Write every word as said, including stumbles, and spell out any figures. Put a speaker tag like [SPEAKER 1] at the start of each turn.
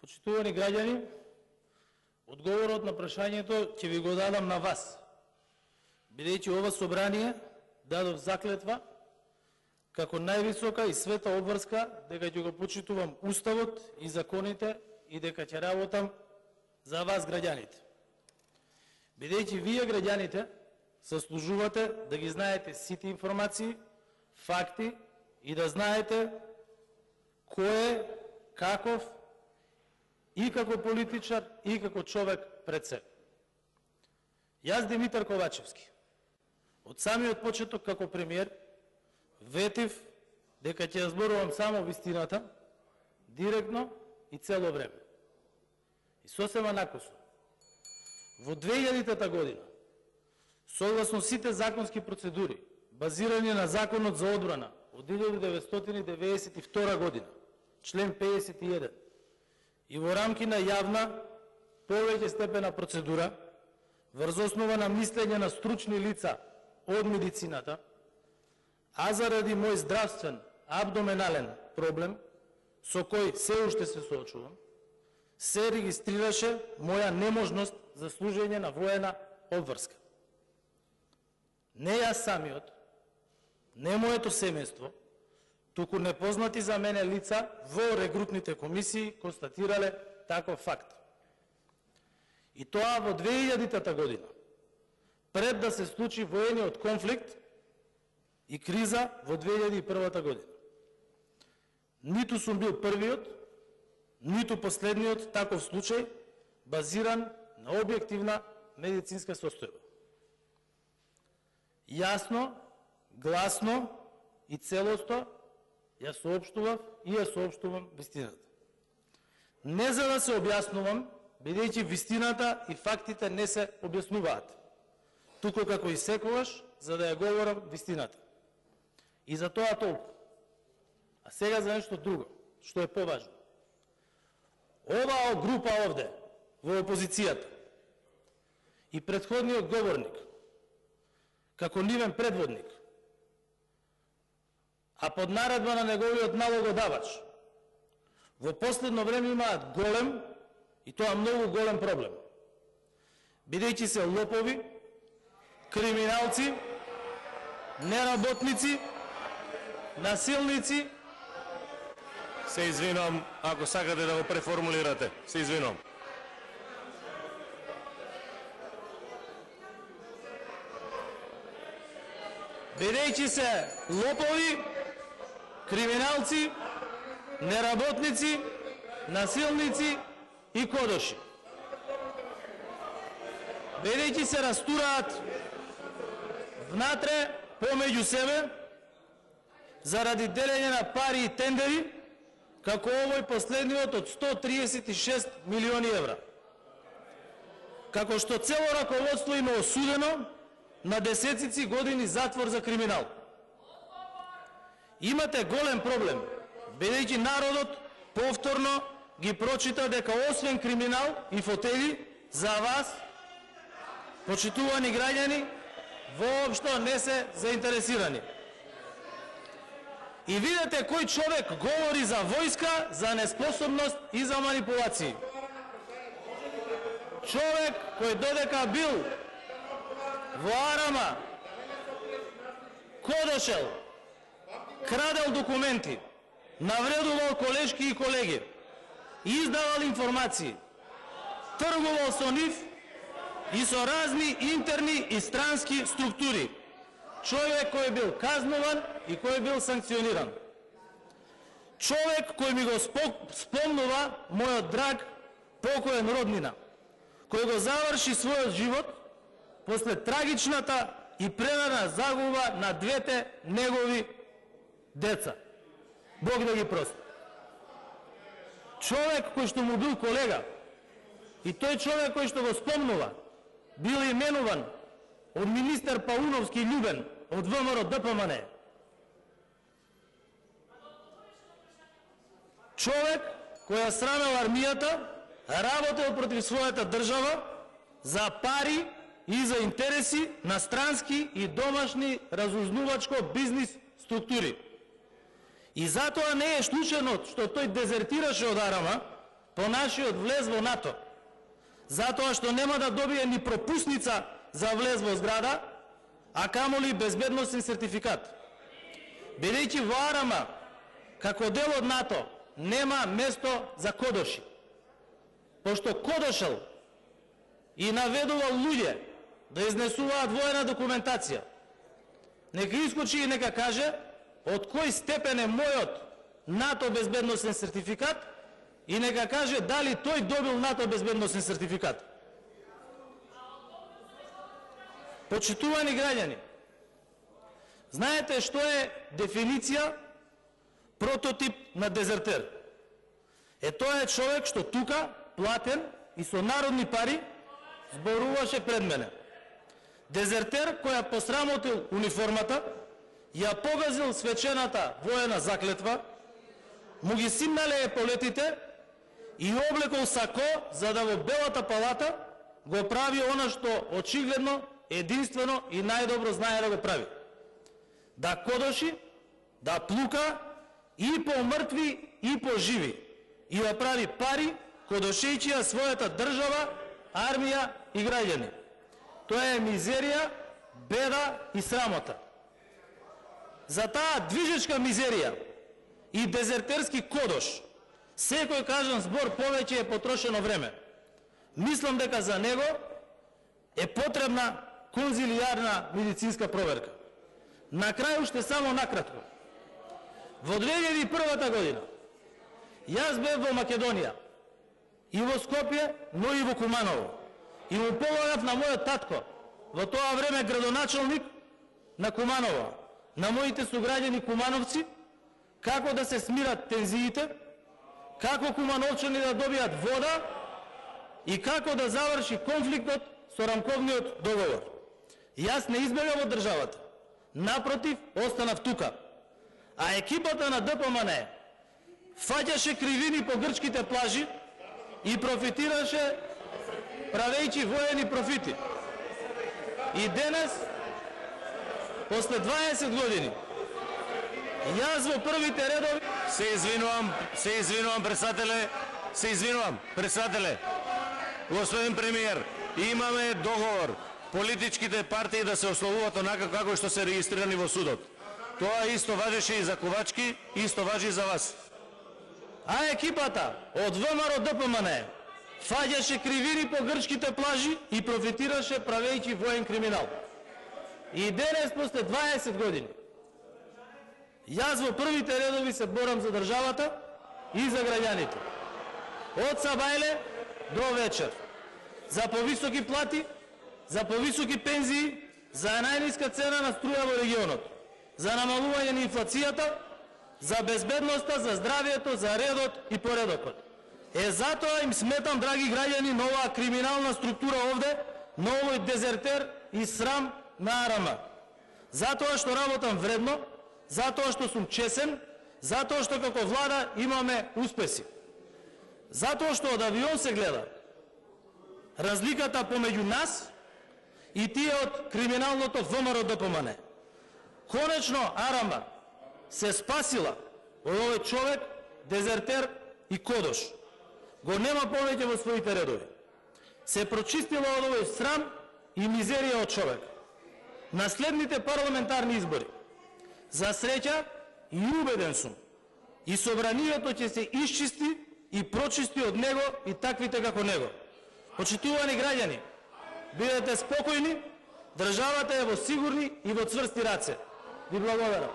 [SPEAKER 1] Почитувани граѓани, одговорот на прашањето ќе ви го дадам на вас, бидејќи ова собрание дадов заклетва како највисока и света обврска дека ќе го почитувам Уставот и законите и дека ќе работам за вас граѓаните. Бидејќи вие граѓаните заслужувате да ги знаете сите информации, факти и да знаете кој е, каков и како политичар и како човек пред себе. Јас, Димитар Ковачевски, од самиот почеток како премиер, ветив дека ќе зборувам само вистината, директно и цело време. И сосема накосо, во две илјадитата година, согласно сите законски процедури, базирани на Законот за одбрана од илјада деветстотини деветдесет и втора година, член пеесет и еден, и во рамки на јавна, повеќе степена процедура, врз основа на мислење на стручни лица од медицината, а заради мој здравствен абдоменален проблем, со кој се уште се соочувам, се регистрираше моја неможност за служење на воена обврска. Не јас самиот, не моето семејство, туку непознати за мене лица во рекрутните комисии констатирале таков факт. И тоа во две илјадитата година, пред да се случи воениот конфликт и криза во две илјади и првата година. Ниту сум бил првиот, ниту последниот таков случај, базиран на објективна медицинска состојба. Јасно, гласно и целосто ја соопштував и ја соопштувам вистината. Не за да се објаснувам, бидејќи вистината и фактите не се објаснуваат, туку како и секогаш, за да ја говорам вистината. И за тоа толку. А сега за нешто друго, што е поважно. Оваа група овде, во опозицијата, и претходниот говорник, како нивен предводник, а под наредба на неговиот налогодавач, во последно време имаат голем, и тоа многу голем проблем, бидејќи се лопови, криминалци, неработници, насилници.
[SPEAKER 2] Се извинувам, ако сакате да го преформулирате. Се извинувам.
[SPEAKER 1] Бидејќи се лопови, криминалци, неработници, насилници и кодоши. Бидејќи се растураат внатре помеѓу себе заради делење на пари и тендери, како овој последниот од сто триесет и шест милиони евра. Како што цело раководство има осудено на десетици години затвор за криминал. Имате голем проблем, бидејќи народот повторно ги прочита дека освен криминал и фотели, за вас, почитувани граѓани, воопшто не се заинтересирани. И видете кој човек говори за војска, за неспособност и за манипулации. Човек кој додека бил во Арама, кодошел, крадел документи, навредувал колешки и колеги, издавал информации, тргувал со нив и со разни интерни и странски структури. Човек кој бил казнуван и кој бил санкциониран. Човек кој ми го спомнува мојот драг покоен роднина, кој го заврши својот живот после трагичната и прерана загуба на двете негови деца. Бог да ги прости. Човек кој што му бил колега и тој човек кој што го спомнува бил именуван од министер Пауновски Љубен од ВМРО Д П М Н. Човек кој ја срамел армијата, работел против својата држава за пари и за интереси на странски и домашни разузнувачко бизнис структури. И затоа не е случајно што тој дезертираше од Арама, по нашиот влез во НАТО, затоа што нема да добие ни пропусница за влез во зграда, а камоли безбедносен сертификат. Бидејќи во Арама, како дел од НАТО, нема место за кодоши. Пошто кодошел и наведувал луѓе да изнесуваат воена документација, нека искочи и нека каже од кој степен е мојот НАТО безбедносен сертификат и нека каже дали тој добил НАТО безбедносен сертификат. Почитувани граѓани, знаете што е дефиниција прототип на дезертер? Е, тоа е човек што тука, платен и со народни пари, зборуваше пред мене. Дезертер која посрамотил униформата, ја погазил свечената воена заклетва, му ги симнале еполетите и облекол сако за да во Белата палата го прави она што очигледно, единствено и најдобро знае да го прави. Да кодоши, да плука и по мртви и по живи и да прави пари кодошејќи ја својата држава, армија и граѓани. Тоа е мизерија, беда и срамота. За таа движечка мизерија и дезертерски кодош секој кажан збор повеќе е потрошено време. Мислам дека за него е потребна конзилијарна медицинска проверка. На крај уште само накратко. Во две илјади и прва година јас бев во Македонија и во Скопје, но и во Куманово. И му помогнав на мојот татко, во тоа време градоначалник на Куманово, на моите суграѓани кумановци, како да се смират тензиите, како кумановчани да добијат вода и како да заврши конфликтот со рамковниот договор. Јас не избегав од државата. Напротив, останав тука. А екипата на Д П М Н фаќаше кривини по грчките плажи и профитираше правејќи воени профити. И денес, после дваесет години, јас во првите редови...
[SPEAKER 2] Се извинувам, се извинувам, председателе, се извинувам, председателе. Господин премиер, имаме договор политичките партии да се ословуваат онака како што се регистрирани во судот. Тоа исто важеше и за Ковачки, исто важи и за вас.
[SPEAKER 1] А екипата од В М Р Д П М Н фаѓаше кривини по грчките плажи и профитираше правејќи воен криминал. И денес, после дваесет години, јас во првите редови се борам за државата и за граѓаните. Од сабајле до вечер. За повисоки плати, за повисоки пензии, за најниска цена на струја во регионот, за намалување на инфлацијата, за безбедноста, за здравието, за редот и поредокот. Е, затоа им сметам, драги граѓани, на оваа криминална структура овде, на овој дезертер и срам на Арама. Затоа што работам вредно, затоа што сум чесен, затоа што како влада имаме успеси. Затоа што од авион се гледа разликата помеѓу нас и тие од криминалното В М Р Д П М Н. Конечно Арама се спасила од овој човек, дезертер и кодош. Го нема повеќе во своите редови. Се прочистила од овој срам и мизерија од човек. На следните парламентарни избори, за среќа и убеден сум, и собранието ќе се исчисти и прочисти од него и таквите како него. Почитувани граѓани, бидете спокојни, државата е во сигурни и во цврсти раце. Ви благодарам.